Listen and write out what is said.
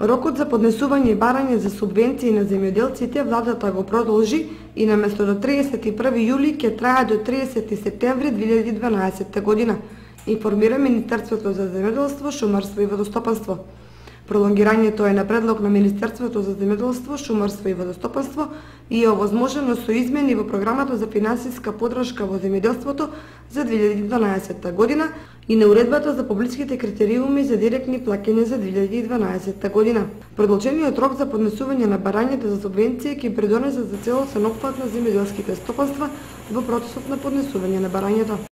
Рокот за поднесување и барање за субвенции на земјоделците владата го продолжи и наместо до 31 јули ќе трае до 30 септември 2012 година, информира Министерството за земјоделство, шумарство и водостопанство. Пролонгирањето е на предлог на Министерството за земјоделство, шумарство и водостопанство и е овозможено со измени во програмата за финансиска поддршка во земјоделството за 2012 година и на уредбата за публичките критериуми за директни плаќања за 2012 година. Продолжениот рок за поднесување на барањата за субвенции ќе придонесе за целосен опфат на земјоделските стопанства во процесот на поднесување на барањето.